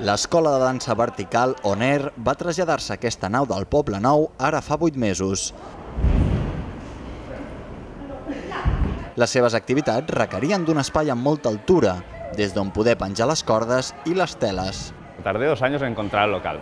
L'escola de dansa vertical On Air va traslladar-se a aquesta nau del Poble Nou ara fa 8 mesos. Les seves activitats requerien d'un espai amb molta altura, des d'on poder penjar les cordes i les teles. Tardé 2 años en encontrar el local.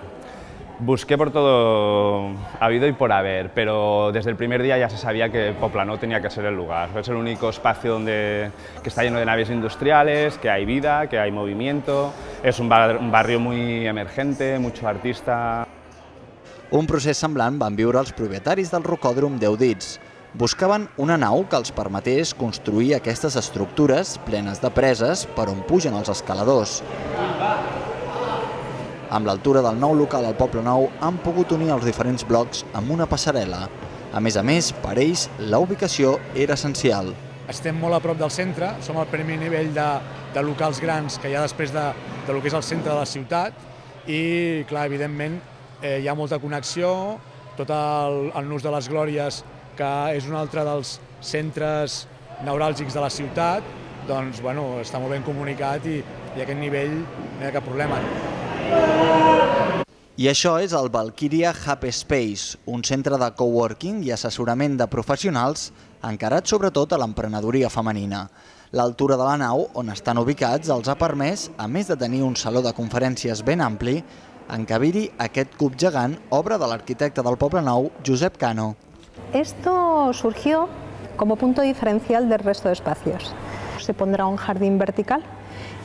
Busqué por todo habido y por haber, pero desde el primer día ya se sabía que Poblenou tenía que ser el lugar. Es el único espacio que está lleno de naves industriales, que hay vida, que hay movimiento. Es un barrio muy emergente, mucho artista. Un procés semblant van viure els propietaris del rocòdrom 10 Dits. Buscaven una nau que els permetés construir aquestes estructures plenes de preses per on pugen els escaladors. Amb l'altura del nou local al Poble Nou han pogut unir els diferents blocs amb una passarel·la. A més, per ells, la ubicació era essencial. Estem molt a prop del centre, som al primer nivell de locals grans que hi ha després del que és el centre de la ciutat i, clar, evidentment, hi ha molta connexió, tot el Nus de les Glòries, que és un altre dels centres neuràlgics de la ciutat, doncs, bueno, està molt ben comunicat i a aquest nivell no hi ha cap problema. I això és el Valkyria Hub Space, un centre de coworking i assessorament de professionals encarat sobretot a l'emprenedoria femenina. L'altura de la nau on estan ubicats els ha permès, a més de tenir un saló de conferències ben ampli, encabir-hi aquest cub gegant, obra de l'arquitecte del Poble Nou, Josep Cano. Esto surgió como punto diferencial del resto de espacios. Se pondrá un jardín vertical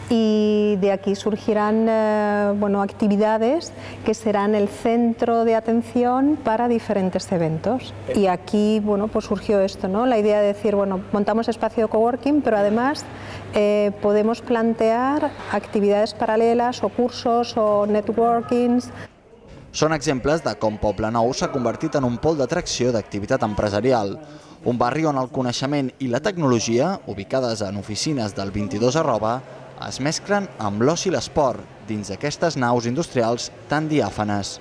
y de aquí surgirán actividades que serán el centro de atención para diferentes eventos. Y aquí pues surgió esto, ¿no? La idea de decir, montamos espacio de coworking, pero además podemos plantear actividades paralelas o cursos o networkings. Són exemples de com Poble Nou s'ha convertit en un pol d'atracció d'activitat empresarial. Un barri on el coneixement i la tecnologia, ubicades en oficines del 22@, es mesclen amb l'oci i l'esport dins d'aquestes naus industrials tan diàfanes.